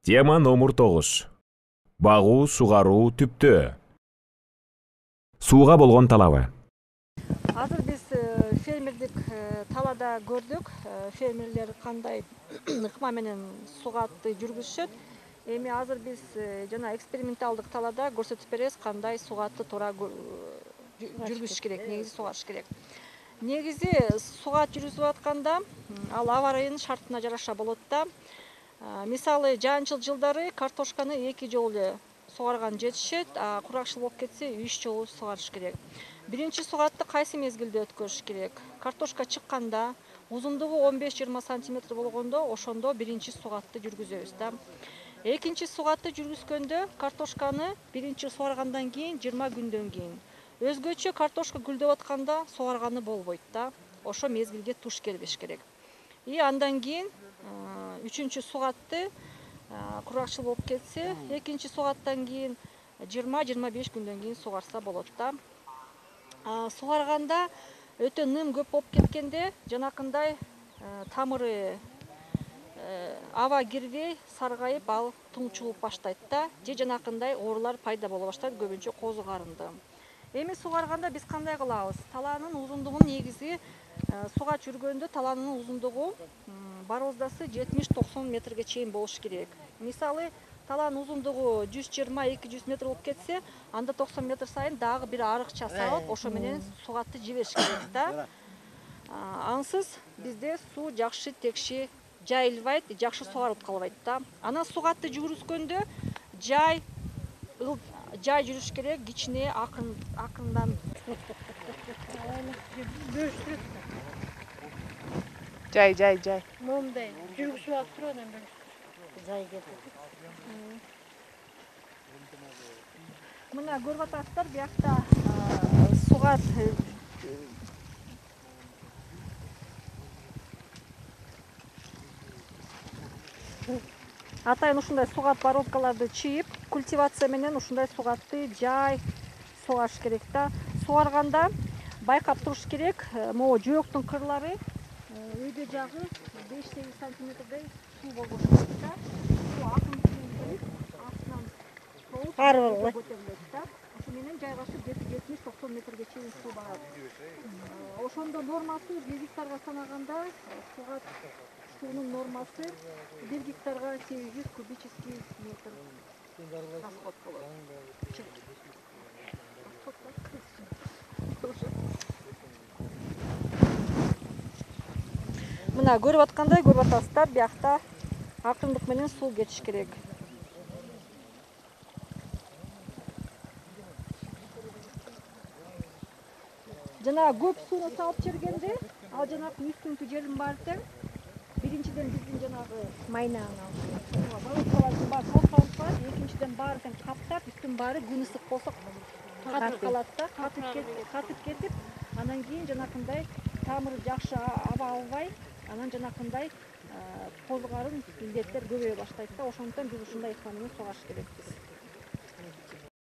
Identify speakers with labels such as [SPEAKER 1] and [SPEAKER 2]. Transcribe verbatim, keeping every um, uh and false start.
[SPEAKER 1] Тема номер тогуз. Багуу, сугаруу түптөө. Сууга болгон талабы.
[SPEAKER 2] Азыр биз фермердик талаада көрдүк. Фермерлер кандай ыкма менен сугатты жүргүзүшөт. Эми азыр биз жана эксперименталдык талаада көрсөтүп беребиз кандай сугатты туура жүргүзүш керек, негизи сугарыш керек. Негизи сугат жүргүзүп атканда ал аба ырайынын шартына жараша болот да. Мисалы жаанчыл жылдары картошканы эки жолу эле сугарган жетишет, а куракчыл болуп кетсе үч жолу сугарыш керек. Биринчи сугатты кайсы мезгилде өткөрүш керек? Картошка чыкканда, узундугу он беш жыйырма сантиметр болгондо ошондо биринчи сугатты жүргүзөбүз да. Экинчи сугатты жүргүзгөндө картошканы биринчи сугаргандан кийин жыйырма күндөн кийин. Өзгөчө картошка гүлдөп атканда сугарганы болбойт да. Ошо мезгилге туш келбеш керек. И андан кийин үчүнчү сугатты куракчыл болуп кетсе, экинчи сугаттан кийин жыйырма жыйырма беш күндөн кийин сугарса болот да. Сугарганда өтө ным көп болуп кеткенде жанакындай тамыры аба кирбей саргайып, ал туңчулуп баштайт да. Же жанакындай оорулар пайда боло баштайт, көбүнчө козу карынды. Эми сугарганда биз кандай кылабыз? Талаанын узундугун негизи сугат жүргөндө талаанын узундугу бароздасы жетимиш токсон метрге чейин болуш керек. Мисалы, талаанын узундугу жүз жыйырма эки жүз метр болуп кетсе, анда токсон метр сайын дагы бир арыкча салып, ошо менен сугатты жибериш керек да. Ансыз бизде суу жакшы текши жайылбайт, жакшы сугарылып калбайт да. Анан сугатты жүргүзгөндө жай жай жүрүш керек, кичине акын акындан.
[SPEAKER 3] Жай, жай, жай.
[SPEAKER 4] Момундай жүргүзүп алып туруп анан бөлүшүп. Жай кетет.
[SPEAKER 2] Мына көрүп атасыздар, биякта сугат атайын ушундай сугат бороздкаларды чыйып, культивация менен ушундай сугатты жай сугарыш керек да. Сугарганда байкап туруш керек, могу жөөктүн кырлары өйдө жагы беш сегиз сантиметрдей суу болбош керек да. Суу акын келип, астынан соуп,
[SPEAKER 4] ар болбойт.
[SPEAKER 2] көтөрүлөт да. Ошо менен жайгашып жетимиш токсон метрге чейин суу барат. Ошондо нормасы бир гектарга санаганда сугат суунун нормасы бир гектарга сегиз жүз кубический метр расход болот. Мына көрүп аткандай, көрүп атасыздар, биякта акырындык менен суу кетиш керек. Жана көп сууну салып жибергенде, ал жанагы үстүңкү жердин баары тең. Биринчиден биздин жанагы
[SPEAKER 4] Майнаны алып.
[SPEAKER 2] бороздкалардын баары тосалып калат, экинчиден баары тең каптап, үстүн баары күн ысык болсо катып калат да, катып кетип, катып кетип, анан кийин жанакындай тамыры жакшы аба албай, анан жанакындай козу карын илдеттер көбөйө баштайт да. Ошондуктан биз ушундай ыкма менен сугарыш керекпиз.